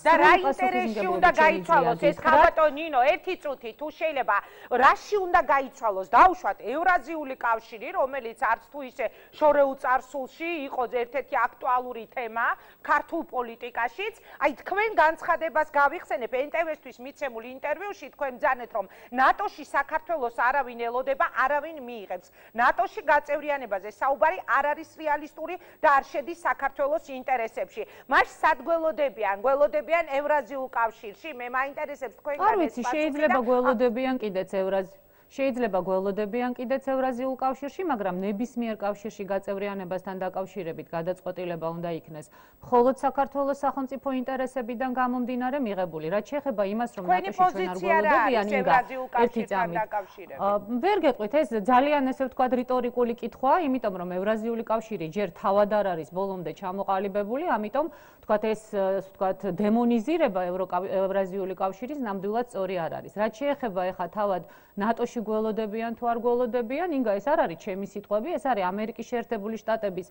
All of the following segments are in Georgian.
და რა ინტერესში უნდა გაიცვალოს ეს ხალხო ნინო ერთი წუთი თუ შეიძლება რაში უნდა გაიცვალოს დაუშვათ ევრაზიული კავშირი რომელიც არც თუ ისე შორეულ წარსულში იყო ერთ-ერთი აქტუალური თემა ქართულ პოლიტიკაშიც აი თქვენ განცხადებას გავიხსენებ NTV-თვის მიცემულ ინტერვიუში თქვენ ბრძანეთ რომ ნატოში საქართველოს არავინ ელოდება არავინ მიიღებს ნატოში გაწევრიანებაზე საუბარი არ არის რეალისტური და არ შედის საქართველოს ინტერესებში მას სად გველოდებიან ევრაზიულ კავშირში მე მაინტერესებს თქვენ განსხვავებით შეიძლება გველოდებიან კიდეც ევრაზიულ კავშირში, მაგრამ ნებისმიერ კავშირში გაწევრიანებასთან დაკავშირებით გადაწყვეტილება უნდა იქნეს მხოლოდ საქართველოს სახელმწიფო ინტერესებიდან გამომდინარე მიღებული. რაც შეეხება იმას, რომ ნატოში ჩვენ არ გველოდებიან ერთი წამით. ვერ გეტყვით, ეს ძალიან ესე ვთქვათ რიტორიკული კითხვაა, იმიტომ რომ ევრაზიული კავშირი ჯერ თავად არ არის ბოლომდე ჩამოყალიბებული, ამიტომ ვთქვათ ეს ვთქვათ დემონიზირება ევრაზიული კავშირის ნამდვილად სწორი არ არის. რაც შეეხება ეხა თავად ნატოში გველოდებიან თუ არ გველოდებიან, ინგა ეს არ არის ჩემი სიტყვები, ეს არის ამერიკის შეერთებული შტატების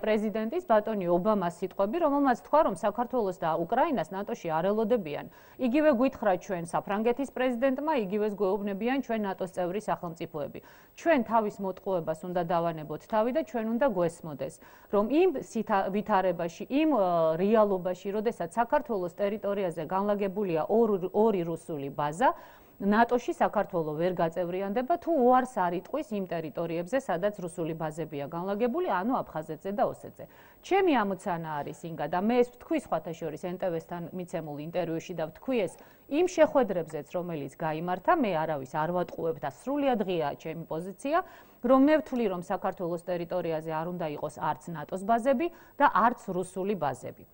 პრეზიდენტის ბატონი ობამას სიტყვები, რომელმაც თქვა, რომ საქართველოს და უკრაინას ნატოში არ ელოდებიან. იგივე გვითხრა ჩვენ საფრანგეთის პრეზიდენტმა, იგივეს გვეუბნებიან ჩვენ ნატოს წევრი სახელმწიფოები. ჩვენ თავის მოტყუებას უნდა დავანებოთ თავი და ჩვენ უნდა გვესმოდეს, რომ იმ ვითარებაში, იმ რეალობაში, როდესაც საქართველოს ტერიტორიაზე განლაგებულია ორი რუსული ბაზა, ნატოში საქართველო ვერ გაწევრიანდება თუ უარს არ იტყვის იმ ტერიტორიებზე, სადაც რუსული ბაზებია განლაგებული, ანუ აფხაზეთზე და ოსეთზე. ჩემი ამოცანა არის ინგა და მე ეს ვთქვი სხვათა შორის NTV-სთან მიცემულ ინტერვიუში და ვთქვი ეს იმ შეხვედრებზეც, რომელიც გაიმართა, მე არავის არ ვატყუებ და სრულიად ღიაა ჩემი პოზიცია, რომ მე ვთვლი, რომ საქართველოს ტერიტორიაზე არ უნდა იყოს არც ნატოს ბაზები და არც რუსული ბაზები.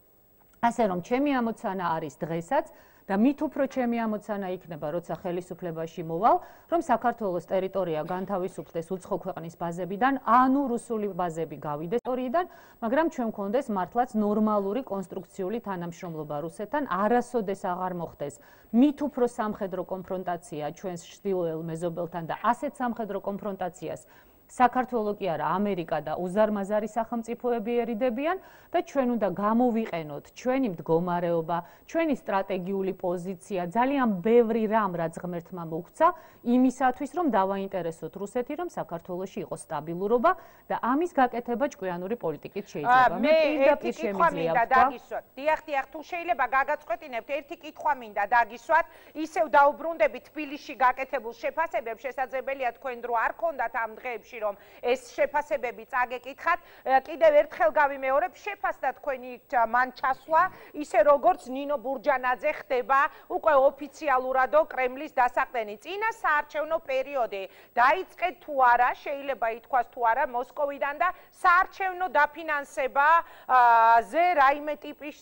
ასე რომ ჩემი ამოცანა არის დღესაც და მით უფრო ჩემი ამოცანა იქნება, როცა ხელისუფლებაში მოვალ, რომ საქართველოს ტერიტორია განთავისუფლდეს უცხო ქვეყნის ბაზებიდან, ანუ რუსული ბაზები გავიდეს ტერიტორიიდან, მაგრამ ჩვენ გქონდეს მართლაც ნორმალური კონსტრუქციული თანამშრომლობა რუსეთთან, არასოდეს აღარ მოხდეს მით უფრო სამხედრო კონფრონტაცია ჩვენს ჩრდილოელ მეზობელთან და ასეთ სამხედრო კონფრონტაციას საქართველო კი არა, ამერიკა და უზარმაზარი სახელმწიფოები ერიდებიან და ჩვენ უნდა გამოვიყენოთ ჩვენი მდგომარეობა, ჩვენი სტრატეგიული პოზიცია, ძალიან ბევრი რამ, რაც ღმერთმა მოგვცა, იმისათვის, რომ დავაინტერესოთ რუსეთი, რომ საქართველოში იყოს სტაბილურობა და ამის გაკეთება ჭკვიანური პოლიტიკით შეიძლება. მე პირდაპირ შემიძლია დაგისვათ. დიახ, თუ შეიძლება გაგაწყვეტინებთ, ერთი კითხვა მინდა დაგისვათ, ისევ დაუბრუნდები თბილისში გაკეთებულ შეფასებებს, შესაძლებელია თქვენ დრო არ ქონდათ ამ დღეებში რომ ეს შეფასებები წაგეკითხათ, კიდევ ერთხელ გავიმეორებ, შეფასდა თქვენი მან ჩასვლა, ისე როგორც ნინო ბურჯანაძე ხდება უკვე ოფიციალურადო კრემლის დასაყრდენი. წინა საარჩევნო პერიოდი დაიწყეთ თუ არა, შეიძლება ითქვას თუ არა მოსკოვიდან და საარჩევნო დაფინანსებაზე რაიმე ტიპის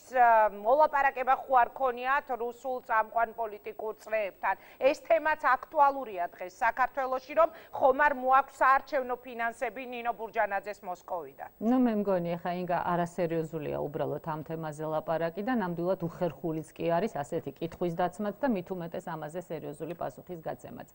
მოლაპარაკება ხო არ ქონიათ რუსულ წამყვან პოლიტიკურ წრეებთან. ეს თემაც აქტუალურია დღეს საქართველოში, რომ ხომ არ მოაქვს საარჩევნო ფინანსები ნინო ბურჯანაძეს მოსკოვიდან. ნუ მე მგონი ხა ინგა არასერიოზულია უბრალოდ ამ თემაზე ლაპარაკი და ნამდვილად უხერხულიც კი არის ასეთი კითხვის დაცმაც და მით უმეტეს ამაზე სერიოზული პასუხის გაცემაც.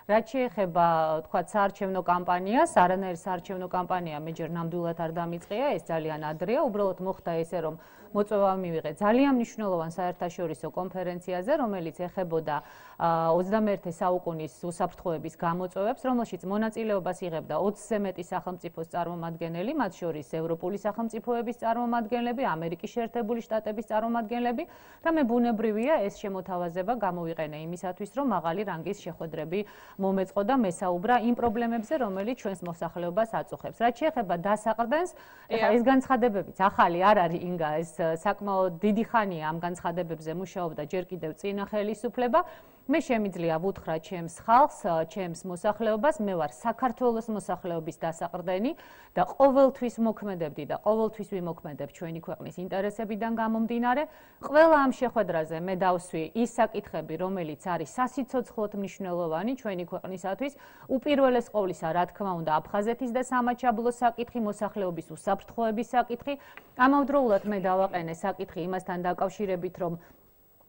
რაც შეეხება თქვა საარჩევნო კამპანიას, არანაირ საარჩევნო კამპანია მე ჯერ ნამდვილად არ დამიწყია, ეს ძალიან ადრეა, უბრალოდ მოხდა ესე რომ მოწვევა მივიღე ძალიან მნიშვნელოვან საერთაშორისო კონფერენციაზე, რომელიც ეხებოდა 21 საუკუნის უსაფრთხოების გამოწვევებს, რომელშიც მონაწილეობას იღებდა 20-ზე მეტი სახელმწიფოს წარმომადგენელი, მათ შორის ევროპული სახელმწიფოების წარმომადგენლები, ამერიკის შეერთებული შტატების წარმომადგენლები და მე ბუნებრივია ეს შემოთავაზება გამოვიყენე იმისათვის, რომ მაღალი რანგის შეხვედრები მომეწყო და მესაუბრა იმ პრობლემებზე, რომელიც ჩვენს მოსახლეობას აწუხებს. რაც შეეხება დასაყრდენს, ეხლა ეს განცხადებებიც ახალი არ არის ინგა, ეს საკმაოდ დიდი ხანია ამ განცხადებებზე მუშაობდა ჯერ კიდევ წინა ხელისუფლება. მე შემიძლია ვუთხრა ჩემს ხალხს, ჩემს მოსახლეობას, მე ვარ საქართველოს მოსახლეობის დასაყრდენი და ყოველთვის მოქმედებდი და ყოველთვის ვიმოქმედებ ჩვენი ქვეყნის ინტერესებიდან გამომდინარე. ყველა ამ შეხვედრაზე მე დავსვი ის საკითხები, რომელიც არის სასიცოცხლოდ მნიშვნელოვანი ჩვენი ქვეყნისათვის, უპირველეს ყოვლისა, რა თქმა უნდა, აფხაზეთის და სამაჩაბლოს საკითხი, მოსახლეობის უსაფრთხოების საკითხი. ამავდროულად მე დავაყენე საკითხი იმასთან დაკავშირებით, რომ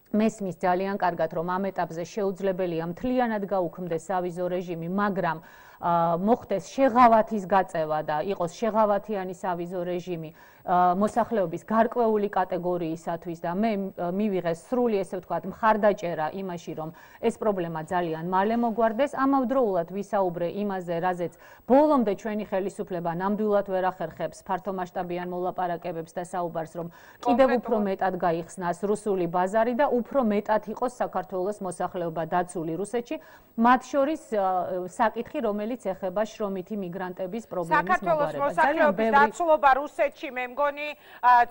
მესმის ძალიან კარგად, რომ ამ ეტაპზე შეუძლებელია მთლიანად გაუქმდეს სავიზო რეჟიმი, მაგრამ მოხდეს შეღავათის გაწევა და იყოს შეღავათიანი სავიზო რეჟიმი მოსახლეობის გარკვეული კატეგორიისათვის და მე მივიღე სრული ესე ვთქვათ მხარდაჭერა იმაში რომ ეს პრობლემა ძალიან მალე მოგვარდეს ამავდროულად ვისაუბრე იმაზე რაზეც ბოლომდე ჩვენი ხელისუფლება ნამდვილად ვერ ახერხებს ფართომასშტაბიან მოლაპარაკებებს და საუბარს რომ კიდევ უფრო მეტად გაიხსნას რუსული ბაზარი და უფრო მეტად იყოს საქართველოს მოსახლეობა დაცული რუსეთში მათ შორის საკითხი რომელიც ეხება შრომითი მიგრანტების პრობლემის მოგვარებას საქართველოს მოსახლეობის დაცულობა რუსეთში მე მგონი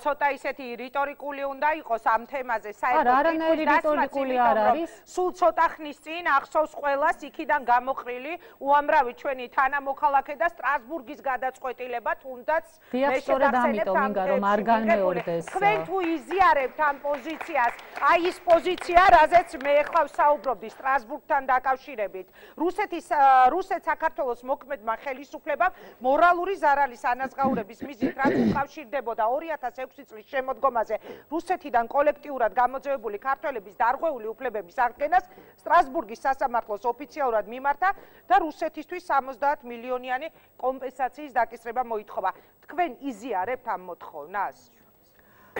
ცოტა ისეთი რიტორიკული უნდა იყოს ამ თემაზე საერთოდ არანაირი რიტორიკული არ არის სულ ცოტა ხნის წინ ახსოვს ყველას იქიდან გამოყრილი უამრავი ჩვენი თანამოქალაქე და სტრასბურგის გადაწყვეტილება თუნდაც მე შეგახსენებ ამიტომ არ განმეორდეს თქვენ თუ იზიარებთ ამ პოზიციას აი ის პოზიცია რაზეც მე ახლა ვსაუბრობდი სტრასბურგთან დაკავშირებით რუსეთ საქართველოს მოქმედმა ხელისუფლებამ მორალური ზარალის ანაზღაურების მიზნით რაც უკავშირდებოდა 2006 წლის შემოდგომაზე რუსეთიდან კოლექტიურად გამოძევებული ქართველების დარღვეული უფლებების აღდგენას სტრასბურგის სასამართლოს ოფიციალურად მიმართა და რუსეთისთვის 70 მილიონიანი კომპენსაციის დაკისრება მოითხოვა. თქვენ იზიარებთ ამ მოთხოვნას?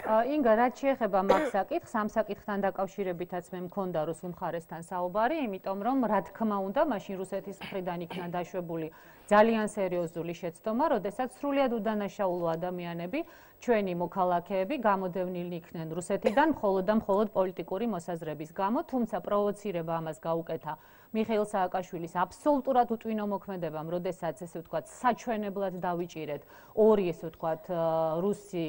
ინგა რაც შეეხება მაგ საკითხს, ამ საკითხთან დაკავშირებითაც მე მქონდა რუსულ მხარესთან საუბარი, იმიტომ რომ რა თქმა უნდა, მაშინ რუსეთის მხრიდან იქნა დაშვებული ძალიან სერიოზული შეცდომა, როდესაც სრულიად უდანაშაულო ადამიანები, ჩვენი მოქალაქეები გამოდევნილნი იქნენ რუსეთიდან მხოლოდ და მხოლოდ პოლიტიკური მოსაზრების გამო, თუმცა პროვოცირება ამას გაუკეთა მიხეილ სააკაშვილის აბსოლუტურად უტვინო მოქმედებამ, როდესაც ესე ვთქვათ, საჩვენებლად დავიჭირეთ ორი ესე ვთქვათ რუსი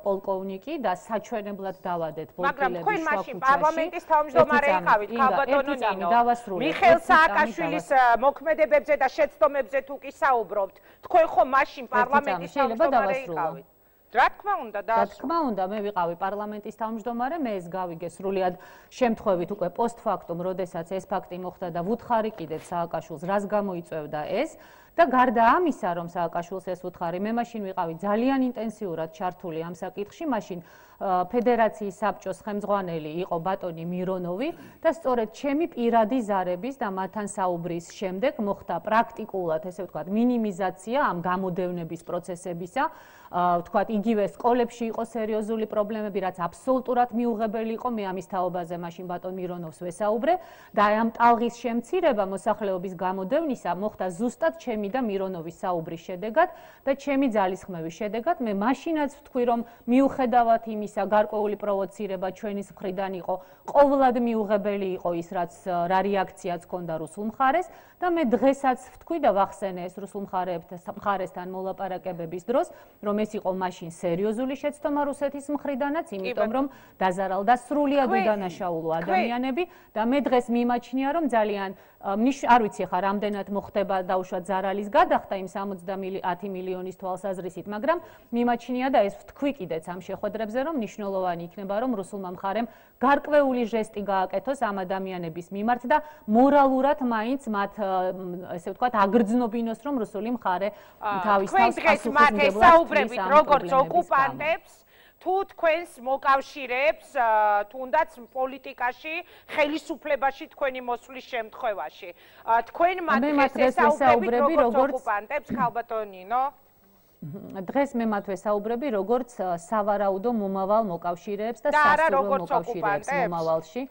პოლკოვნიკი და საჩვენებლად დავადეთ მაგრამ პოლკილების თქვენ მაშინ პარლამენტის თავმჯდომარე იყავით, ქალბატონო ნინო. მიხეილ სააკაშვილის მოქმედებებზე და შეცდომებზე თუ კი საუბრობთ, თქვენ ხომ მაშინ პარლამენტის თავმჯდომარე იყავით? რა თქმა უნდა და რა თქმა უნდა მე ვიყავი პარლამენტის თავმჯდომარე მე ეს გავიგე სრულიად შემთხვევით უკვე პოსტფაქტუმ როდესაც ეს ფაქტი მოხდა და ვუთხარი კიდევ სააკაშვილს რას გამოიწვევდა ეს და გარდა ამისა რომ სააკაშვილს ეს ვუთხარი მე მაშინ ვიყავი ძალიან ინტენსიურად ჩართული ამ საკითხში მაშინ ფედერაციის საბჭოს ხელმძღვანელი იყო ბატონი მირონოვი და სწორედ ჩემი პირადი ზარების და მათთან საუბრის შემდეგ მოხდა პრაქტიკულად ესე ვთქვათ მინიმიზაცია ამ გამოდევნების პროცესებისა ვთქვათ იგივე სკოლებში იყო სერიოზული პრობლემები რაც აბსოლუტურად მიუღებელი იყო მე ამის თაობაზე მაშინ ბატონ მირონოვს ვესაუბრე და ამ ტალღის შემცირება მოსახლეობის გამოდევნისა მოხდა ზუსტად ჩემი და მირონოვის საუბრის შედეგად და ჩემი ძალისხმევის შედეგად მე მაშინაც ვთქვი რომ მიუხედავად იმისა გარკვეული პროვოცირება ჩვენის მხრიდან იყო ყოვლად მიუღებელი იყო ის რაც რა რეაქციაც ჰქონდა რუსულ მხარეს და მე დღესაც ვთქვი და ვახსენე ეს რუსულ მხარესთან მოლაპარაკებების დროს რომ ეს იყო მაშინ სერიოზული შეცდომა რუსეთის მხრიდანაც იმიტომ რომ დაზარალდა სრულიად უდანაშაულო ადამიანები და მე დღეს მიმაჩნია რომ ძალიან არ ვიცი ხა რამდენად მოხდება დაუშვათ ზარალის გადახდა იმ 70 მილიონის თვალსაზრისით მაგრამ მიმაჩნია და ეს ვთქვი კიდეც ამ შეხვედრებზე რომ მნიშვნელოვანი იქნება რომ რუსულმა მხარემ გარკვეული ჟესტი გააკეთოს ამ ადამიანების მიმართ და მორალურად მაინც მათ ესე ვთქვათ აგრძნობინოს რომ რუსული მხარე თავის თავს ასაუბრებით როგორც ოკუპანტებს თუ თქვენს მოკავშირეებს თუნდაც პოლიტიკაში ხელისუფლებაში თქვენი მოსვლის შემთხვევაში თქვენ მათ ესაუბრებით როგორც ოკუპანტებს ქალბატონო ნინო დღეს მე მათ ვესაუბრები როგორც სავარაუდო მომავალ მოკავშირეებს და სასურველ მოკავშირეებს მომავალში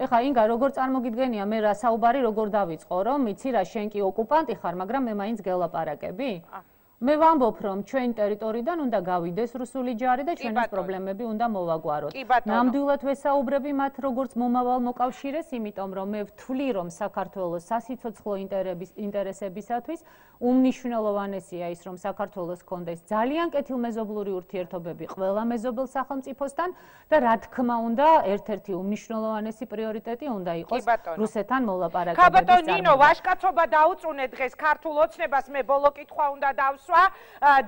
ეხა ინგა როგორ წარმოგიდგენია მე რა საუბარი როგორ დავიწყო რომ იცი რა შენ კი ოკუპანტი ხარ მაგრამ მე მაინც გელაპარაკები მე ვამბობ რომ ჩვენი ტერიტორიიდან უნდა გავიდეს რუსული ჯარი და ჩვენი პრობლემები უნდა მოვაგვაროთ. ნამდვილად ვესაუბრები მათ როგორც მომავალ მოკავშირეს, იმიტომ რომ მე ვთვლი რომ საქართველოს სასიცოცხლო ინტერესებისათვის უმნიშვნელოვანესია ის რომ საქართველოს ჰქონდეს ძალიან კეთილმეზობლური ურთიერთობები ყველა მეზობელ სახელმწიფოსთან და რა თქმა უნდა ერთ-ერთი უმნიშვნელოვანესი პრიორიტეტი უნდა იყოს რუსეთთან მოლაპარაკებების წარმოება. ქალბატონო ნინო, ვაჟკაცობა დაუწუნეთ დღეს ქართულ ოცნებას მე ბოლო კითხვა უნდა დავსვა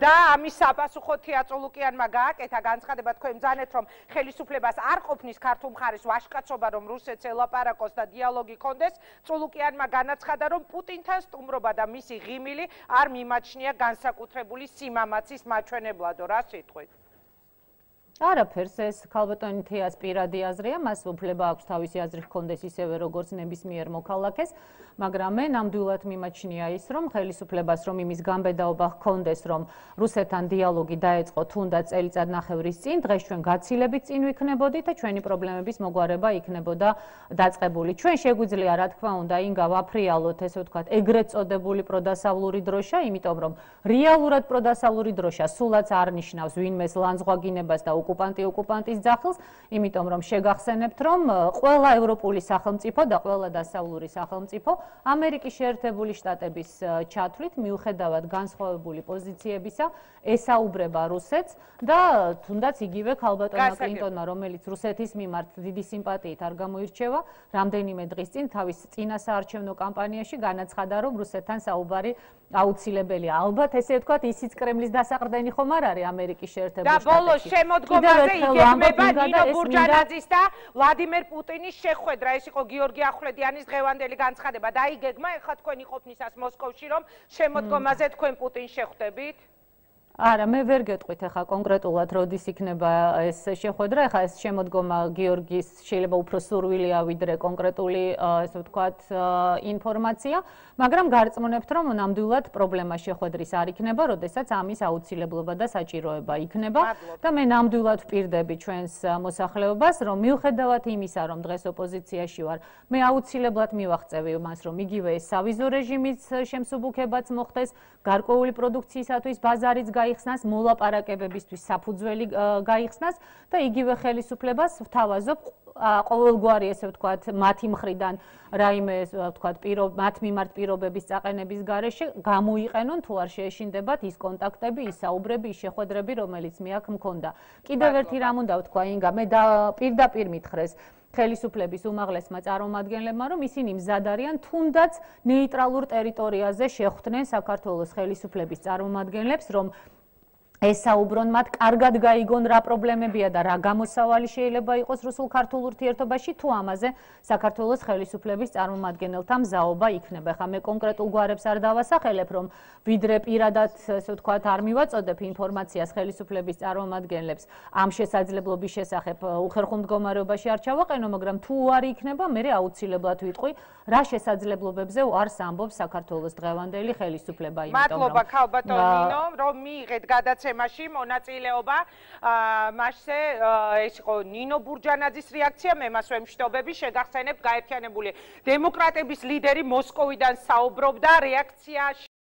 და ამის საპასუხო თია წულუკიანმა გააკეთა განცხადება თქვენ ბრძანეთ რომ ხელისუფლებას არ ყოფნის ქართულ მხარეს ვაჟკაცობა რომ რუსეთს ელაპარაკოს და დიალოგი კონდეს წულუკიანმა განაცხადა რომ პუტინთან სტუმრობა და მისი ღიმილი არ მიმაჩნია განსაკუთრებული სიმამაცის მაჩვენებლადო რა სიტყვით არაფერს ეს ქალბატონი თეას პირადი აზრია, მას უფლება აქვს თავისი აზრი ჰქონდეს ისევე როგორც ნებისმიერ მოქალაქეს, მაგრამ მე ნამდვილად მიმაჩნია ის, რომ ხელისუფლებას რომ იმის გამბედაობა ჰქონდეს, რომ რუსეთთან დიალოგი დაეწყო თუნდაც წელიწადნახევრის წინ, დღეს ჩვენ გაცილებით წინ ვიქნებოდით და ჩვენი პრობლემების მოგვარება იქნებოდა დაწყებული. ჩვენ შეგვიძლია, რა თქმა უნდა, ინგა ვაფრიალოთ, ესე ვთქვათ, ეგრეთ წოდებული პროდასავლური დროშა, იმიტომ რომ რეალურად პროდასავლური დროშა სულაც არ ნიშნავს ვინმეს ლანძღვაგინებას და ოკუპანტის ძახილს, იმიტომ რომ შეგახსენებთ, რომ ყველა ევროპული სახელმწიფო და ყველა დასავლური სახელმწიფო ამერიკის შეერთებული შტატების ჩათვლით მიუხედავად განსხვავებული პოზიციებისა ესაუბრება რუსეთს და თუნდაც იგივე ქალბატონმა კლინტონმა, რომელიც რუსეთის მიმართ დიდი სიმპათიით არ გამოირჩევა, რამდენიმე დღის წინ თავის წინა საარჩევნო კამპანიაში განაცხადა, რომ რუსეთთან საუბარი აუცილებელია. ალბათ ესე ვთქვათ, ისიც კრემლის დასაყრდენი ხომ არ არის ამერიკის შეერთებული შტატებში. და ბოლოს შემოდგომაზე იგეგმება ნინო ბურჯანაძის და ვლადიმერ პუტინის შეხვედრა. ეს იყო გიორგი ახვლედიანის დღევანდელი განცხადება. დაიგეგმა ეხლა თქვენი ყოფნისას მოსკოვში, რომ შემოდგომაზე თქვენ პუტინს შეხვდებით? არა, მე ვერ გეტყვით ახლა კონკრეტულად როდის იქნება ეს შეხვედრა. ახლა ეს შემოდგომა გიორგის შეიძლება უფრო სურვილია ვიდრე კონკრეტული, ესე ვთქვათ, ინფორმაცია, მაგრამ გარწმუნებთ, რომ ნამდვილად პრობლემა შეხვედრის არ იქნება, როდესაც ამის აუცილებლობა და საჭიროება იქნება და მე ნამდვილად ვპირდები ჩვენს მოსახლეობას, რომ მიუხედავად იმისა, რომ დღეს ოპოზიციაში ვარ, მე აუცილებლად მივაღწევი მას, რომ იგივე ეს სავიზო რეჟიმის შემსუბუქებაც მოხდეს, გარკვეული პროდუქციისათვის ბაზარიც გაიხსნას, მოლაპარაკებებისთვის საფუძველი გაიხსნას და იგივე ხელისუფლებას ვთავაზობ ყოველგვარი, ესე ვთქვათ, მათი მხრიდან რაიმე, ვთქვათ, მათ მიმართ პირობების წაყენების გარეშე გამოიყენონ თუ არ შეეშინდებათ ის კონტაქტები, ის საუბრები, ის შეხვედრები, რომელიც მე აქ მქონდა. კიდევ ერთი რამ უნდა ვთქვა, ინგა, მე პირდაპირ მითხრეს ხელისუფლების უმაღლესმა წარმომადგენლებმა, რომ ისინი მზად არიან თუნდაც ნეიტრალურ ტერიტორიაზე შეხვდნენ საქართველოს ხელისუფლების წარმომადგენლებს, რომ ესაუბრონ მათ, კარგად გაიგონ რა პრობლემებია და რა გამოსავალი შეიძლება იყოს რუსულ-ქართულ ურთიერთობაში, თუ ამაზე საქართველოს ხელისუფლების წარმომადგენელთა მზაობა იქნება. ხა მე კონკრეტულ გვარებს არ დავასახელებ, რომ ვიდრე პირადად, ესე ვთქვათ, არ მივაწოდებ ინფორმაციას ხელისუფლების წარმომადგენლებს ამ შესაძლებლობის შესახებ უხერხულ მდგომარეობაში არ ჩავაყენო, მაგრამ თუ არ იქნება, მე აუცილებლად ვიტყვი, რა შესაძლებლობებზე უარს ამბობს საქართველოს დღევანდელი ხელისუფლება, იმიტომ რომ მადლობა ქალბატონ ნინო, რომ მიიღეთ გადაცემაში მონაწილეობა. მასზე ეს იყო ნინო ბურჯანაძის რეაქცია, მე მას ვემშვიდობები, შეგახსენებთ, გაერთიანებული დემოკრატების ლიდერი მოსკოვიდან საუბრობდა რეაქციაში